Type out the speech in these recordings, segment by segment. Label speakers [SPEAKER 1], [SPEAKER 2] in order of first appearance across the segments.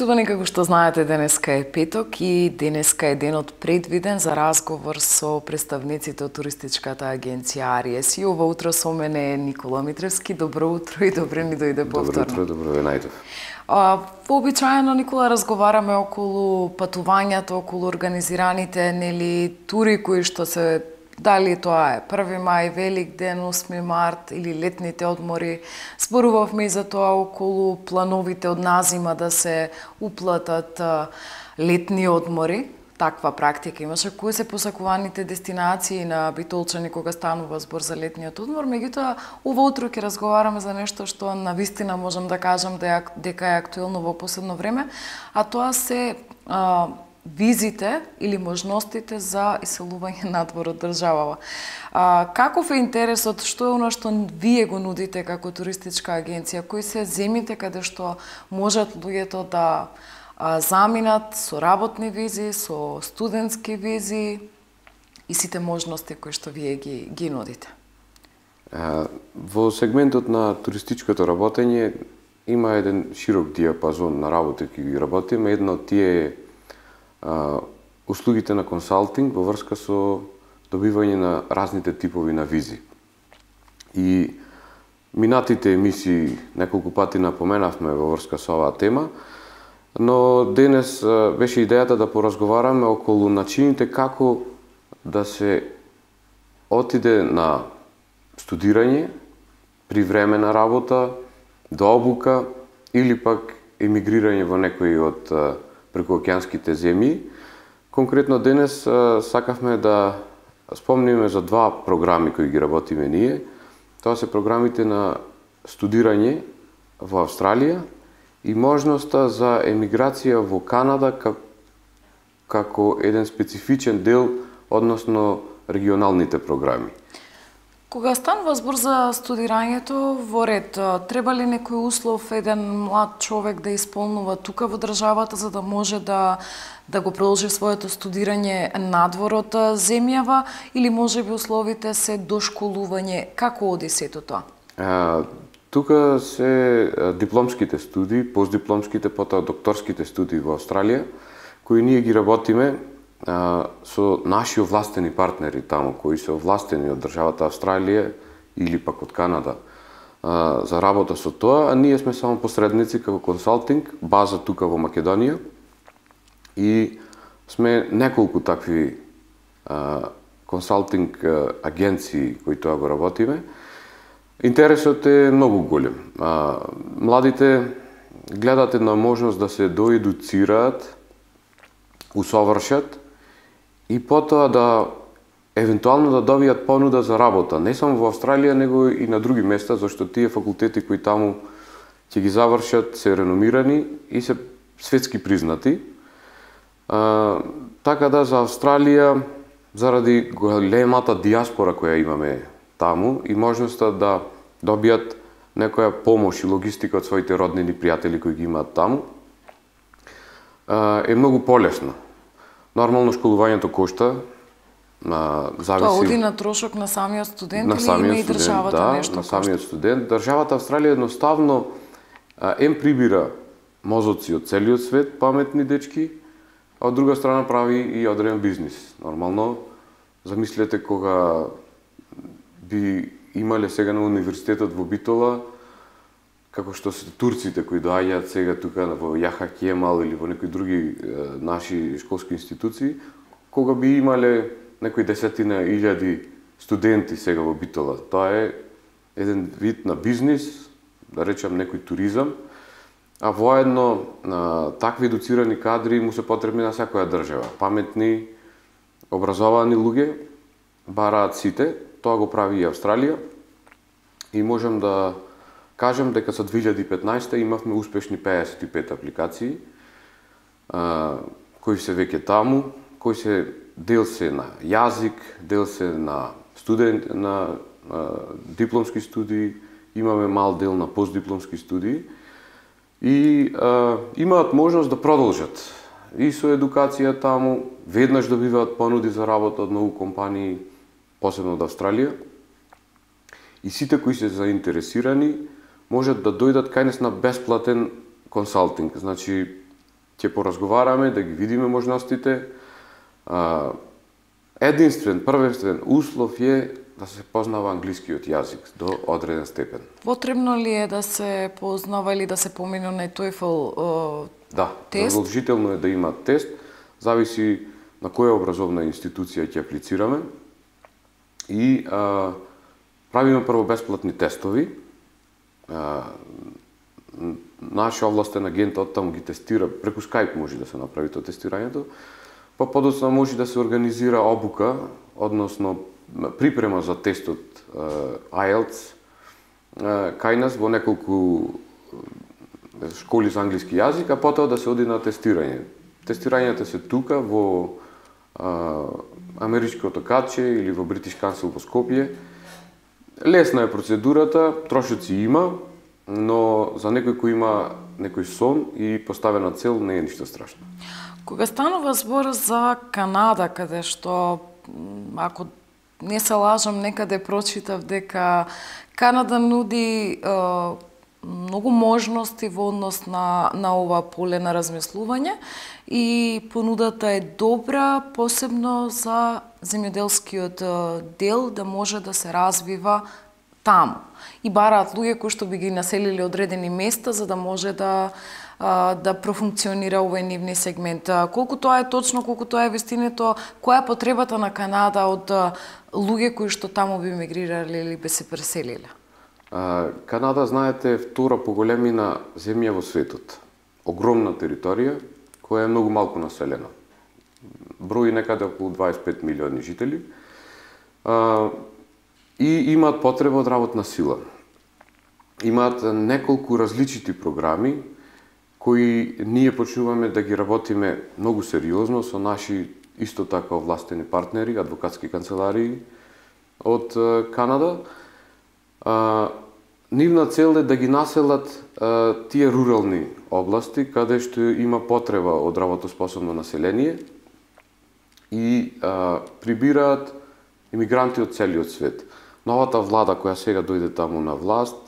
[SPEAKER 1] Почитувани, како што знаете, денеска е петок и денеска е денот предвиден за разговор со представниците од туристичката агенција Ариес. И ова утро со мене е Никола Митревски. Добро утро и добре ни дојде повторно.
[SPEAKER 2] Добро утро, добро ве најдов.
[SPEAKER 1] Вообичаено, Никола, разговараме околу патувањето, околу организираните тури кои што се, дали тоа е 1 мај, Велик ден, 8 март или летните одмори. Зборувавме и за тоа околу плановите од назима да се уплатат летни одмори. Таква практика имаше. Кои се посакуваните дестинации на битолчани кога станува збор за летниот одмор? Меѓутоа, ова утро ќе разговараме за нешто што навистина можам да кажам дека е актуелно во последно време, а тоа се визите или можностите за иселување надвор од државава. Каков е интересот, што е оно што вие го нудите како туристичка агенција? Кои се земите каде што можат луѓето да заминат со работни визи, со студентски визи и сите можности кои што вие ги нудите?
[SPEAKER 2] Во сегментот на туристичкото работење има еден широк диапазон на работи кои ги работиме. Една од тие е услугите на консалтинг во врска со добивање на разните типови на визи. И минатите емисии неколку пати напоменавме во врска со оваа тема, но денес беше идејата да поразговараме околу начините како да се отиде на студирање, привремена работа, до обука или пак емигрирање во некои од прекуокеанските земји. Конкретно денес сакавме да спомниме за два програми кои ги работиме ние. Тоа се програмите на студирање во Австралија и можноста за емиграција во Канада како еден специфичен дел, односно регионалните програми.
[SPEAKER 1] Кога станува збор за студирањето во ред, треба ли некој услов еден млад човек да исполнува тука во државата за да може да го продолжи своето студирање надвор од земјава, или можеби условите се дошколување? Како оди сето тоа?
[SPEAKER 2] Тука се дипломските студии, постдипломските, потоа докторските студии во Австралија, кои ние ги работиме со наши овластени партнери таму, кои се овластени од државата Австралија или пак од Канада за работа со тоа, а ние сме само посредници како консалтинг, база тука во Македонија, и сме неколку такви консалтинг агенции кои тоа го работиме. Интересот е многу голем. Младите гледат една можност да се доедуцираат, усовршат и потоа да евентуално да добијат понуда за работа, не само во Австралија, него и на други места, зашто тие факултети кои таму ќе ги завршат се реномирани и се светски признати. Така да за Австралија, заради големата диаспора која имаме таму и можноста да добијат некоја помош и логистика од своите роднини, пријатели кои ги имаат таму, е многу полесно. Нормално школувањето кошта, зависи...
[SPEAKER 1] Тоа оди на трошок на самиот студент или има и државата нешто
[SPEAKER 2] кошта? На самиот студент. Државата Австралија едноставно прибира мозоци од целиот свет, паметни дечки, а од друга страна прави и одреден бизнис. Нормално, замислете кога би имале сега на универзитетот во Битола, како што се турците кои доаѓаат сега тука во Јаха Кемал или во некои други наши школски институции, кога би имале некои десетина илјади студенти сега во Битола. Тоа е еден вид на бизнис, да речам некој туризам, а воедно такви едуцирани кадри му се потребни на секоја држава. Паметни, образовани луѓе бараат сите, тоа го прави и Австралија, и можам да кажам дека за 2015 имавме успешни 55 апликации, кои се веќе таму, кои се дел се на јазик, дел се на дипломски студии, имаме мал дел на постдипломски студии и имаат можност да продолжат и со едукација таму, веднаш добиваат понуди за работа од многу компании, посебно од Австралија, и сите кои се заинтересирани можат да дојдат кај нас на бесплатен консалтинг. Значи, ќе поразговараме, да ги видиме можностите. Единствен, првенствен услов е да се познава англискиот јазик до одреден степен.
[SPEAKER 1] Потребно ли е да се познава или да се помине на TOEFL тест?
[SPEAKER 2] Задолжително е да има тест. Зависи на која образовна институција ќе аплицираме. И правиме прво бесплатни тестови. Наш овластен агент оттаму ги тестира, преку Skype може да се направи тоа тестирањето, па подоцна може да се организира обука, односно припрема за тестот IELTS кај нас во неколку школи за англиски јазик, а потоа да се оди на тестирање. Тестирањата се тука во Америчкото Каче или во Бритиш Кансел во Скопје. Лесна е процедурата, трошоци има, но за некој кој има некој сон и поставена цел не е ништо страшно.
[SPEAKER 1] Кога станува збор за Канада, каде што, ако не се лажам, некаде прочитав дека Канада нуди многу можности во однос на ова поле на размислување и понудата е добра, посебно за земјоделскиот дел да може да се развива таму. И бараат луѓе кои што би ги населили одредени места за да може да профункционира овој нивни сегмент. Колку тоа е точно, колку тоа е вистинето, која е потребата на Канада од луѓе кои што таму би мигрирале или би се преселиле?
[SPEAKER 2] Канада, знаете, е втора по големина земја во светот. Огромна територија, која е многу малку населена. Брои некаде околу 25 милиони жители. И имаат потреба од работна сила. Имаат неколку различити програми кои ние почнуваме да ги работиме многу сериозно со наши исто така овластени партнери, адвокатски канцеларии од Канада. Нивна цел е да ги населат тие рурални области каде што има потреба од работоспособно население и прибираат имигранти од целиот свет. Новата влада која сега дојде таму на власт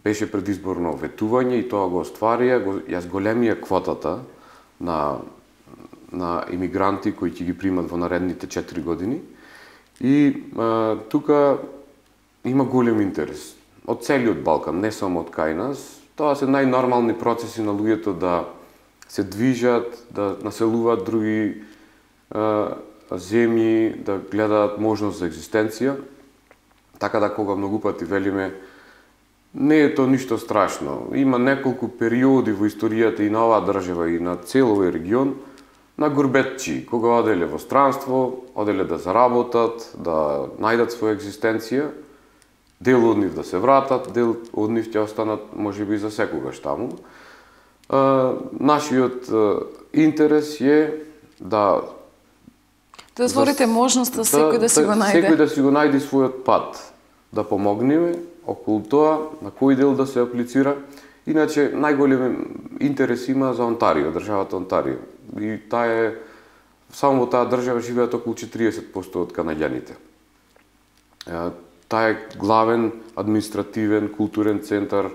[SPEAKER 2] беше предизборно ветување и тоа го остварија, ја зголемија квотата на имигранти кои ќе ги примат во наредните 4 години. И тука има голем интерес од целиот Балкан, не само од кај нас. Тоа се најнормални процеси на луѓето да се движат, да населуваат други земји, да гледаат можност за екзистенција. Така да кога многу пати велиме не е тоа ништо страшно. Има неколку периоди во историјата и на оваа држава и на цел овој регион на гурбетчи, кога оделе во странство, оделе да заработат, да најдат своја екзистенција, дел од нив да се вратат, дел од нив ќе останат можеби за секогаш таму. Нашиот интерес е да
[SPEAKER 1] отворите можност да секој да си го најде.
[SPEAKER 2] Секој да си го најде својот пат, да помогнеме околу тоа на кој дел да се аплицира. Иначе најголем интерес има за Онтарио, државата Онтарио. И таа е само во таа држава живеат околу 40% од канаѓаните. Таа е главен административен, културен центар,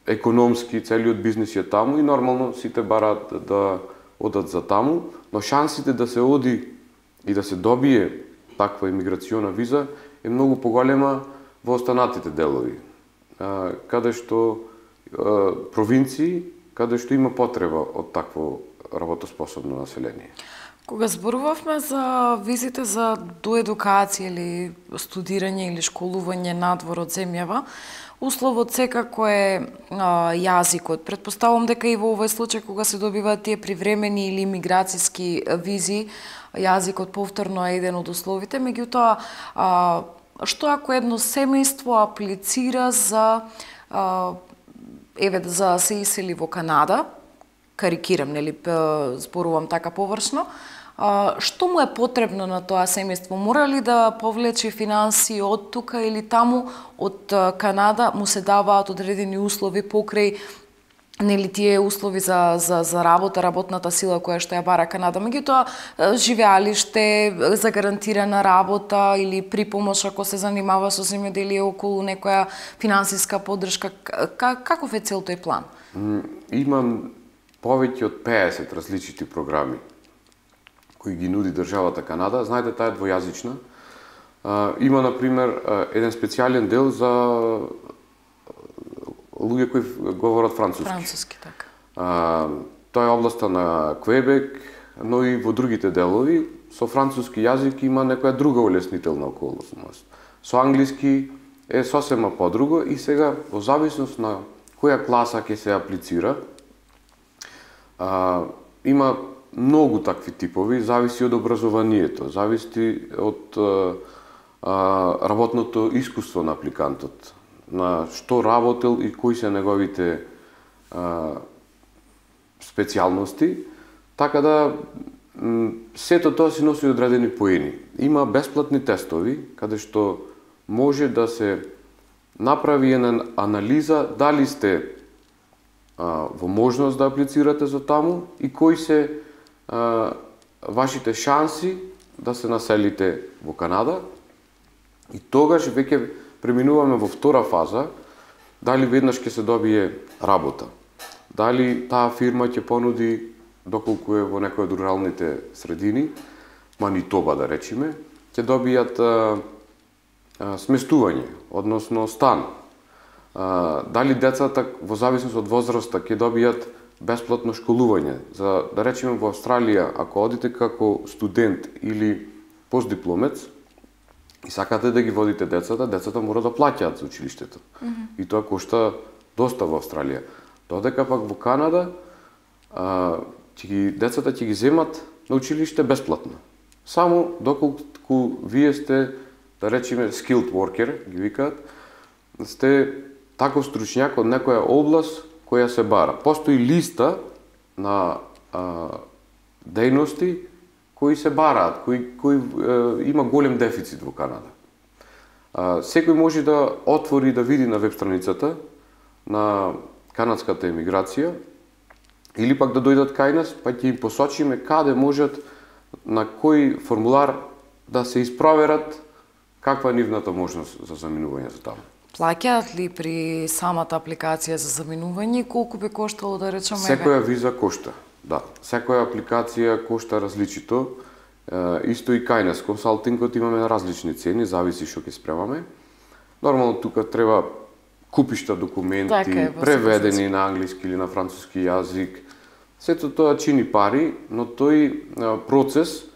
[SPEAKER 2] економски, целиот бизнис е таму и нормално сите бараат да одат за таму, но шансите да се оди и да се добие таква имиграциона виза е многу поголема во останатите делови, каде што провинции, каде што има потреба од такво работоспособно население.
[SPEAKER 1] Кога зборувавме за визите за доедукација или студирање или школување надвор од земјава, условот секако е јазикот. Претпоставувам дека и во овој случај кога се добиваат тие привремени или имиграцијски визи, јазикот повторно е еден од условите, меѓутоа што ако едно семејство аплицира за да се исели во Канада, карикирам, нели, зборувам така површно, што му е потребно на тоа семејство? Мора ли да повлече финанси од тука или таму од Канада му се даваат одредени услови покрај нели тие услови за работа, работната сила која што ја бара Канада, меѓутоа живеалиште, загарантирана работа или припомош ако се занимава со земјоделие околу некоја финансиска поддршка, каков е цел тој план?
[SPEAKER 2] Имам повеќе од 50 различити програми кои ги нуди државата Канада. Знаете, таа е двојазична. Има, например, еден специјален дел за луѓе кои говорат француски.
[SPEAKER 1] Француски, така.
[SPEAKER 2] Тоа е областа на Квебек, но и во другите делови. Со француски јазик има некоја друга улеснителна околност. Со англиски е сосема подруго и сега, во зависност на која класа ќе се аплицира, има многу такви типови, зависи од образованието, зависи од работното искуство на апликантот, на што работел и кои се неговите специјалности, така да сето тоа си носи одредени поени. Има бесплатни тестови, каде што може да се направи една анализа дали сте во можност да аплицирате за таму и кои се вашите шанси да се населите во Канада. И тогаш веќе преминуваме во втора фаза, дали веднаш ќе се добие работа. Дали таа фирма ќе понуди, доколку е во некој од руралните средини, Манитоба да речеме, ќе добијат сместување, односно стан. Дали децата во зависност од возраста ќе добијат бесплатно школување. За да речеме во Австралија, ако одите како студент или постдипломец и сакате да ги водите децата мора да плаќаат за училиштето. И тоа кошта доста во Австралија. Додека пак во Канада децата ќе ги земат на училиште бесплатно. Само доколку вие сте, да речеме, skilled worker, ги викаат, сте таков стручњак од некоја област која се бара. Постои листа на дејности кои се бараат, кои има голем дефицит во Канада. Секој може да отвори да види на веб страницата на канадската емиграција или пак да дојдат кај нас, па ќе им посочиме каде можат на кој формулар да се испроверат каква е нивната можност за заминување за таму.
[SPEAKER 1] Плаќаат ли при самата апликација за заминување? Колку би коштало, да речеме?
[SPEAKER 2] Секоја виза кошта, да. Секоја апликација кошта различито. Исто и кај нас, консалтингот имаме различни цени, зависи што ќе спремаме. Нормално тука треба купишта документи, преведени на англиски или на француски јазик. Сето тоа чини пари, но тој процес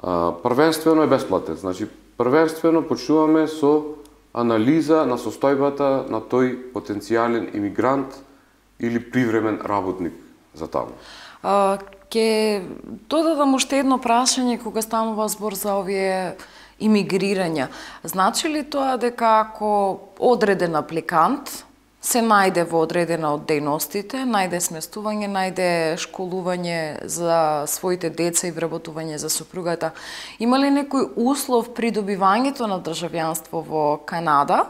[SPEAKER 2] првенствено е бесплатен. Значи, првенствено почнуваме со анализа на состојбата на тој потенцијален имигрант или привремен работник за таму.
[SPEAKER 1] Ке додадам уште едно прашање кога станува збор за овие имигрирања. Значи ли тоа дека ако одреден апликант се најде во одредена од дејностите, најде сместување, најде школување за своите деца и вработување за сопругата, има ли некој услов при добивањето на државјанство во Канада,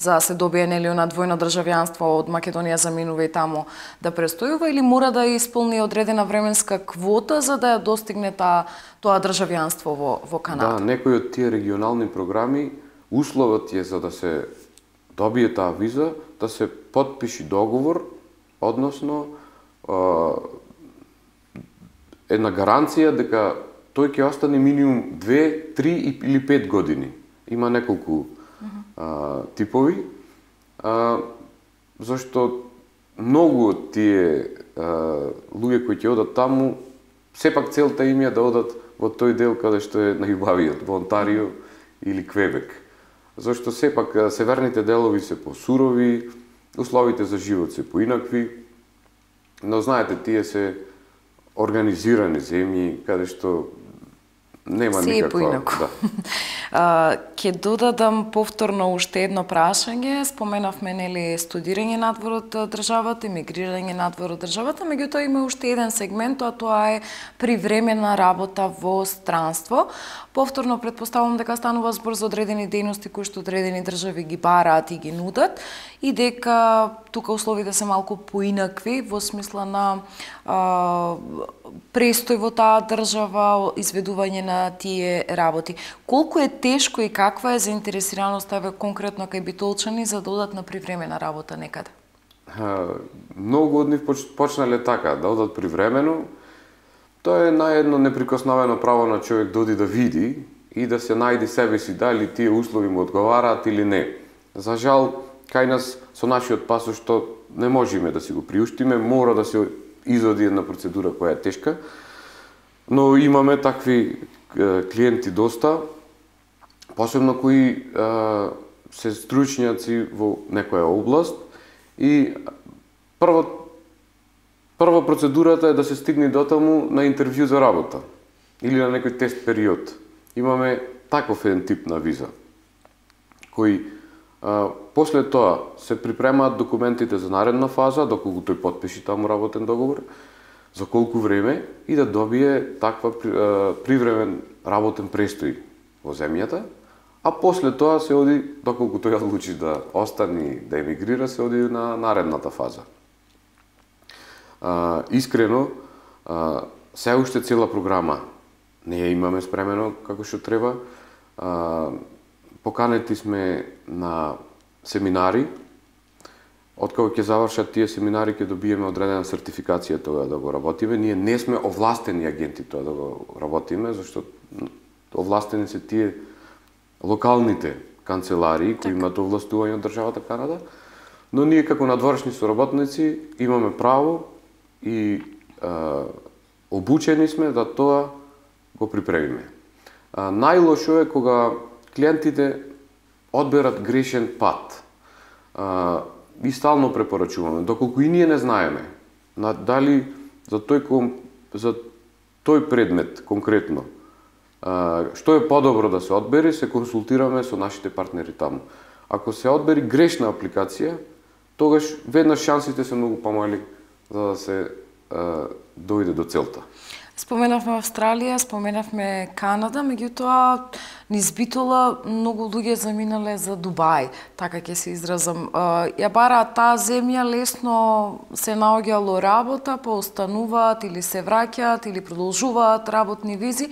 [SPEAKER 1] за да се добие нели на двојно државјанство од Македонија заминува и таму да престојува, или мора да исполни одредена временска квота за да ја достигне тоа државјанство во Канада?
[SPEAKER 2] Да, некои од тие регионални програми условот е за да се добие таа виза, да се потпиши договор, односно една гаранција дека тој ќе остане минимум 2, 3 или 5 години. Има неколку типови, зашто многу од тие луѓе кои ќе одат таму, сепак целта им е да одат во тој дел каде што е најубавиот, во Онтарио или Квебек. Зашто сепак северните делови се посурови, условите за живот се поинакви, но знаете, тие се организирани земји каде што нема никаква...
[SPEAKER 1] Ќе додадам повторно уште едно прашање. Споменавме нели студирање надвор од државата, емигрирање надвор од државата, меѓутоа има уште еден сегмент, тоа е привремена работа во странство. Повторно претпоставувам дека станува збор за одредени дејности кои што одредени држави ги бараат и ги нудат и дека тука условите се малку поинакви во смисла на престој во таа држава, изведување на тие работи. Колку е тешко и каква е заинтересираноста конкретно кај битолчани за да одат на привремена работа некаде?
[SPEAKER 2] многу од нив почнале така, да одат привремено. Тоа е наедно неприкосновено право на човек да оди да види и да се најди себе си дали тие услови му одговараат или не. За жал, кај нас со нашиот пасош што не можеме да си го приуштиме, мора да се изоди една процедура која е тешка, но имаме такви клиенти доста, посебно кои се стручњаци во некоја област и прва процедурата е да се стигне дотаму на интервју за работа или на некој тест период. Имаме таков еден тип на виза, кои после тоа се припремаат документите за наредна фаза, доколку тој потпиши таму работен договор, за колку време и да добие таква привремен работен престој во земјата, а после тоа се оди, доколку тој одлучи да остане, да емигрира, се оди на наредната фаза. Искрено, се уште цела програма не ја имаме спремено како што треба. Поканети сме на семинари. Откако ќе завршат тие семинари, ќе добиеме одредена сертификација тоа да го работиме. Ние не сме овластени агенти тоа да го работиме, зашто овластени се тие локалните канцеларии кои имаат овластување од државата Канада, но ние како надворешни соработници имаме право и обучени сме да тоа го припремиме. Најлошо е кога клиентите одберат грешен пат. И стално препорачуваме, доколку и ние не знаеме дали за тој предмет конкретно што е подобро да се одбери, се консултираме со нашите партнери таму. Ако се одбери грешна апликација, тогаш веднаш шансите се многу помали за да се дојде до целта.
[SPEAKER 1] Споменавме Австралија, споменавме Канада, меѓутоа низ Битола многу луѓе заминале за Дубај, така ќе се изразам. Ја бараат таа земја, лесно се наоѓало работа, па остануваат или се враќаат или продолжуваат работни визи.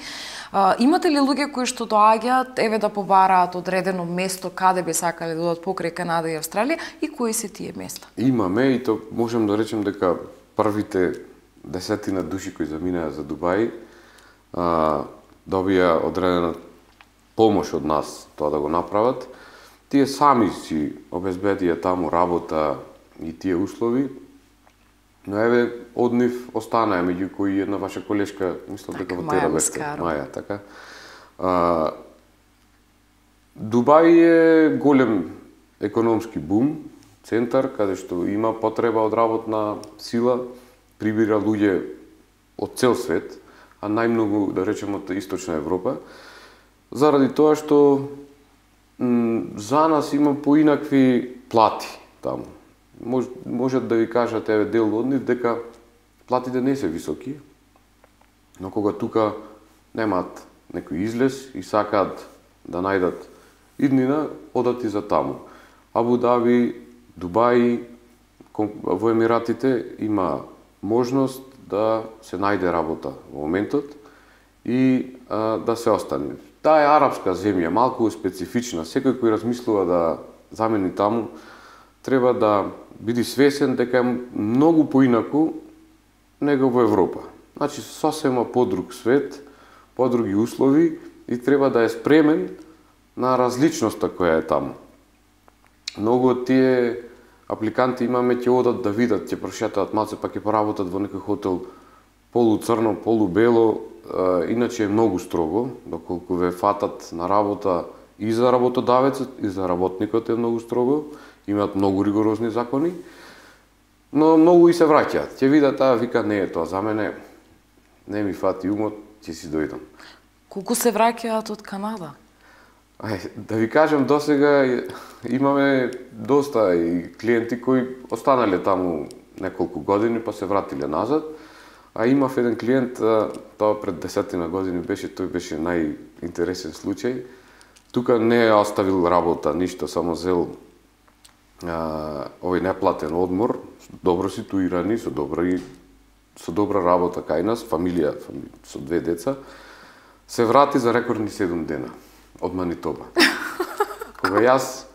[SPEAKER 1] Имате ли луѓе кои што доаѓаат, еве да побараат одредено место каде би сакале да одат покрај Канада и Австралија и кои се тие места?
[SPEAKER 2] Имаме и то можем да речем дека првите 10 души кои заминаа за Дубај добија одредена помош од нас тоа да го направат. Тие сами си обезбедија таму работа и тие услови, но еве од нив останаа, меѓу кои една ваша колешка, мислам дека во Тера беше, Маја, така. Дубај е голем економски бум, центар каде што има потреба од работна сила, прибира луѓе од цел свет, а најмногу, да речем, од Источна Европа, заради тоа што за нас има поинакви плати таму. Можат да ви кажат, еве, дел од нив, дека платите не се високи, но кога тука немаат некој излез и сакаат да најдат иднина, одат и за таму. Абу Даби, Дубај, во Емиратите има можност да се најде работа во моментот и да се остане. Таа е арапска земја, малку специфична. Секој кој размислува да замени таму, треба да биде свесен дека е многу поинаку него во Европа. Значи, сосема подруг свет, подруги услови и треба да е спремен на различноста која е таму. Многу од тие апликанти имаме, ќе одат да видат, ќе прошетаат малце, па ќе поработат во некој хотел полуцрно, полубело, иначе е многу строго, доколку ве фатат на работа и за работодавецот, и за работникот е многу строго, имаат многу ригорозни закони, но многу и се враќаат. Ќе видат, вика, не е тоа за мене, не ми фати умот, ќе си дојдам.
[SPEAKER 1] Колку се враќаат од Канада?
[SPEAKER 2] Да ви кажам, досега имаме доста и клиенти кои останале таму неколку години, па се вратиле назад. А имав еден клиент, тоа пред 10 години беше, тој беше најинтересен случај. Тука не е оставил работа, ништо, само зел овој неплатен одмор, добро ситуирани, со добра работа кај нас, фамилија со 2 деца, се врати за рекордни 7 дена од Манитоба. Кога јас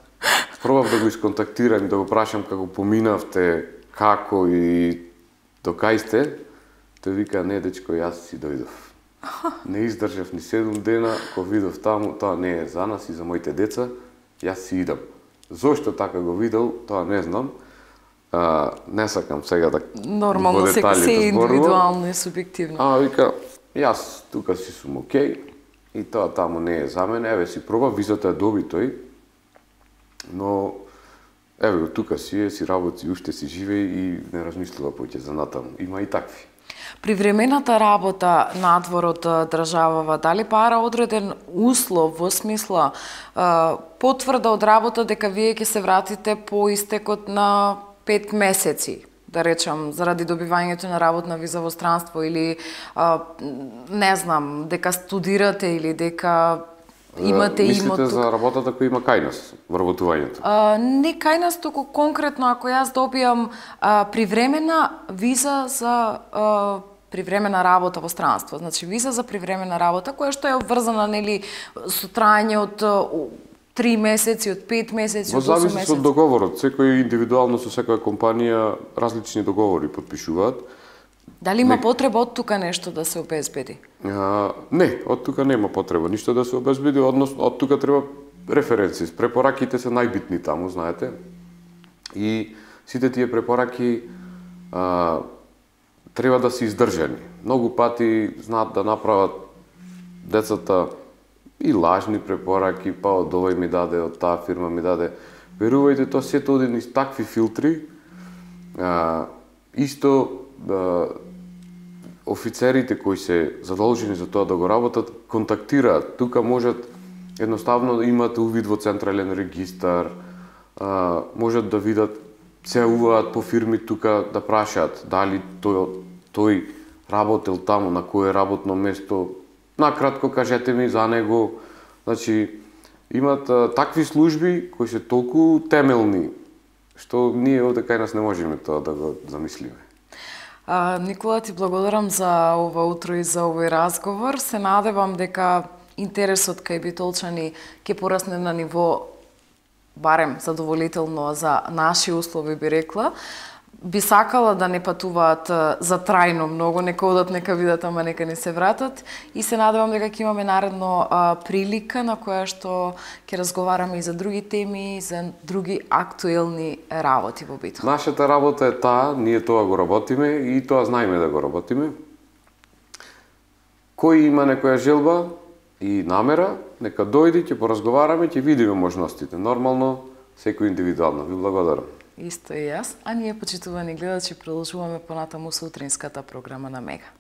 [SPEAKER 2] Пробав да го исконтактирам, да го прашам како поминавте, како и до кај сте. Тој вика, не дечко, јас си дојдов. Не издржав ни 7 дена, кога видов таму, тоа не е за нас и за моите деца, јас си идам. Зошто така го видел, тоа не знам. Не сакам сега да
[SPEAKER 1] нормално се е индивидуално и субјективно.
[SPEAKER 2] Вика, јас тука си сум окей и тоа таму не е за мене, еве си проба, визата е доби тој, но еве тука си работи, уште си живе и не размислува поќе за натаму. Има и такви.
[SPEAKER 1] Привремената работа надвор од државава, дали пара одреден услов во смисла потврда од работа дека вие ќе се вратите по истекот на 5 месеци, да речам, заради добивањето на работна виза во странство или не знам, дека студирате или дека имате
[SPEAKER 2] Мислите
[SPEAKER 1] имот.
[SPEAKER 2] за работата која има кај нас, вработувањето?
[SPEAKER 1] Не кај нас, туку конкретно ако јас добиам привремена виза за привремена работа во странство, значи виза за привремена работа која што е обврзана нели со траење од 3 месеци, од 5 месеци, од 8 месеци.
[SPEAKER 2] Во зависи од договорот, секој индивидуално со секоја компанија различни договори потпишуваат.
[SPEAKER 1] Дали има потреба од тука нешто да се обезбеди?
[SPEAKER 2] Не, од тука нема потреба ништо да се обезбеди, односно од тука треба референци. Препораките се најбитни таму, знаете. И сите тие препораки треба да се издржани. Многу пати знаат да направат децата и лажни препораки, па од овој ми даде, од таа фирма ми даде. Верувајте, тоа сето оди низ такви филтри. Исто офицерите кои се задолжени за тоа да го работат, контактираат. Тука можат едноставно да имат увид во централен регистар, можат да видат, се уваат по фирми тука да прашаат дали тој работел таму, на кое работно место, накратко кажете ми за него. Значи, имат такви служби кои се толку темелни, што ние овде кај нас не можеме тоа да го замислиме.
[SPEAKER 1] Никола, ти благодарам за ова утро и за овој разговор. Се надевам дека интересот кај битолчани ќе порасне на ниво барем задоволително за наши услови, би рекла. Би сакала да не патуваат за трајно многу, нека одат, нека видат, ама нека не се вратат. И се надевам дека ќе имаме наредно прилика на која што ќе разговараме и за други теми, и за други актуелни работи во битот.
[SPEAKER 2] Нашата работа е таа, ние тоа го работиме и тоа знаеме да го работиме. Кој има некоја желба и намера, нека дојди, ќе поразговараме, ќе видиме можностите. Нормално, секој индивидуално. Ви благодарам.
[SPEAKER 1] Исто и јас, а ние, почитувани гледачи, продолжуваме понатаму со утринската програма на Мега.